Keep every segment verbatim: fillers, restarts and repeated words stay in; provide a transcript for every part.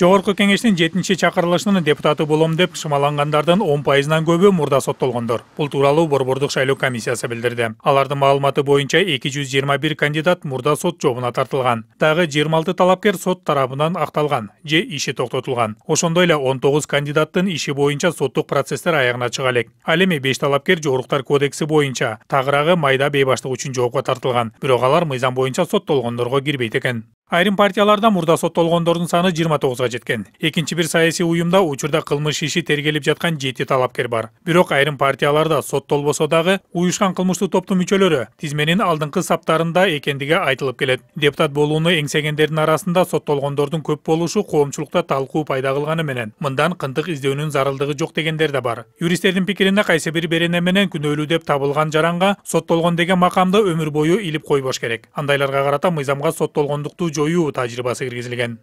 Жогорку кеңештин жетинчи чакырылышынын депутаты болом деп шымалангандардын он пайызынан көбү мурда соттолгондор. Бул тууралуу Борбордук шайлоо комиссиясы билдирди. Алардын маалыматы боюнча эки жүз жыйырма бир кандидат мурда сот жообуна тартылган. Дагы жыйырма алты талапкер сот тарабынан акталган же иши токтотулган. Ошондой эле он тогуз кандидаттын иши боюнча соттук процесстер аягына чыга элек. Ал эми беш талапкер Жоруктар кодекси боюнча, тагыраагы майда бейбаштык үчүн жоопко тартылган. Бирок алар мыйзам боюнча соттолгондорго кирбейт экен. Айрым партияларда мурда соттолгондордун саны жыйырма тогузга жеткен. Экинчи бир саясий уюмда учурда кылмыш иши тергелип жаткан жети талапкер бар. Бирок айрым партияларда соттолбосо дагы уюшкан кылмыштуу топтун мүчөлөрү тизменин алдыңкы саптарында экендиги айтылып келет. Депутат болууну эңсегендердин арасында соттолгондордун көп болушу коомчулукта талкуу пайда кылганы менен мындан кындык издөөнүн зарылдыгы жок дегендер да бар. Юристтердин пикирине кайсы бир берене менен күнөөлүү деп табылган жаранга соттолгон деген макамды өмүр бою илип койбош керек. Андайларга карата мыйзамга соттолгондукту жоюу тажрыйбасы киргизилген.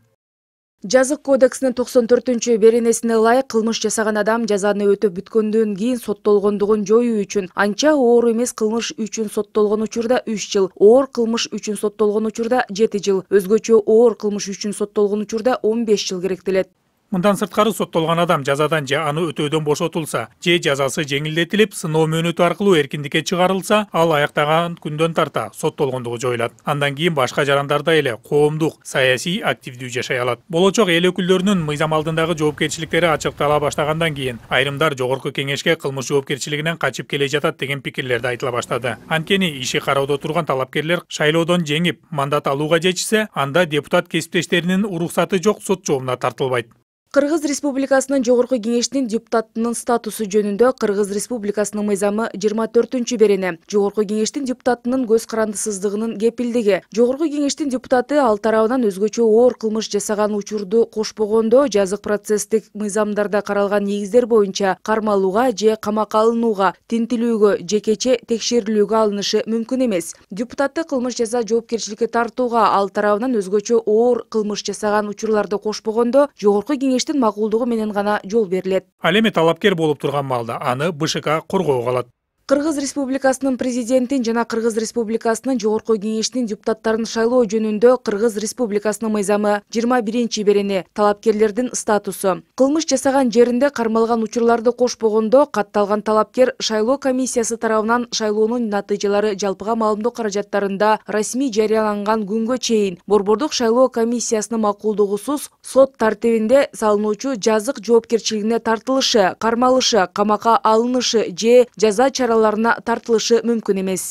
Жазык кодексинин токсон төртүнчү беренесине ылайык кылмыш жасаган адам жазаны өтөп бүткөндөн кийин соттолгондугун жоюу үчүн анча оор эмес кылмыш үчүн соттолгон учурда үч жыл, оор кылмыш үчүн соттолгон учурда жети жыл, өзгөчө оор кылмыш үчүн соттолгон учурда он беш жыл керектелет. Мындан сырткары соттолгон адам жазадан же аны өтөөдөн бошотулса, же жазасы жеңилдетилип, сыноо мөөнөтү аркылуу эркиндикке чыгарылса, ал аяктаган күндөн тарта соттолгондугу жоюлат. Андан кийин башка жарандарда эле коомдук, саясий активдүү жашай алат. Болочок эл өкүлдөрүнүн мыйзам алдындагы жоопкерчиликтери ачыктала баштагандан кийин айрымдар жогорку кеңешке кылмыш жоопкерчилигинен качып келе жатат деген пикирлерди айтыла баштады. Анткени иши кароодо турган талапкерлер шайлоодон жеңип, мандат алууга жетишсе, анда депутат кесиптештеринин уруксаты жок сот жообуна тартылбайт. Кыргыз Республикасынын Жогорку кеңештин депутатынын статусу жөнүндө Кыргыз Республикасынын мыйзамы жыйырма төртүнчү берене. Жогорку кеңештин депутатынын көз карандысыздыгынын кепилдиги. Жогорку кеңештин депутаты ал тарабынан өзгөчө оор кылмыш жасаган учурду кошпогондо жазык процесстик мыйзамдарда каралган негиздер боюнча кармалууга же камакка алынууга, тинтилүүгө, жекече текшерилүүгө алынышы мүмкүн эмес. Депутатты кылмыш жаза жоопкерчиликке тартууга ал тарабынан өзгөчө оор кылмыш жасаган учурларды кошпогондо Жогорку кеңештин макулдугу менен гана жол берилет. Ал эми талапкер болуп турган малда аны БШК коргоого алат. Кыргыз Республикасынын президентин жана Кыргыз Республикасынын Жогорку кеңештин депутаттарын шайлоо жөнүндө Кыргыз Республикасынын мыйзамы жыйырма биринчи берене. Талапкерлердин статусу. Кылмыш жасаган жеринде кармалган учурларды кошпогондо катталган талапкер шайлоо комиссиясы тарабынан шайлоонун натыйжалары жалпыга маалымдоо каражаттарында расмий жарыяланган күнгө чейин Борбордук шайлоо комиссиясынын макулдугусуз сот тартибинде салынуучу жазык жоопкерчилигине тартылышы, кармалышы, камакка алынышы же жаза чаралары тартылышы мүмкүн эмес.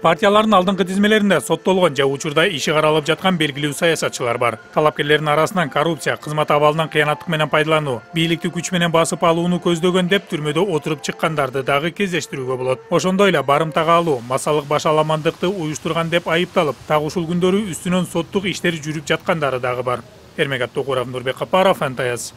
Партиялардын алдыңкы тизмелеринде соттолгон же учурда иши каралып жаткан белгилүү саясатчылар бар. Талапкерлердин арасынан коррупция, кызмат абалынан кыянаттык менен пайдалануу, бийликти күч менен басып алууну көздөгөн деп түрмөдө отуруп чыккандарды дагы кездештирүүгө болот. Ошондой эле барымтага алуу, массалык башаламандыкты уюштурган деп айыпталып, так ушул күндөрү үстүнөн соттук иштер жүрүп жаткандары дагы бар. Эрмегат Токуров, Нурбек Капаров, эн тэ эс.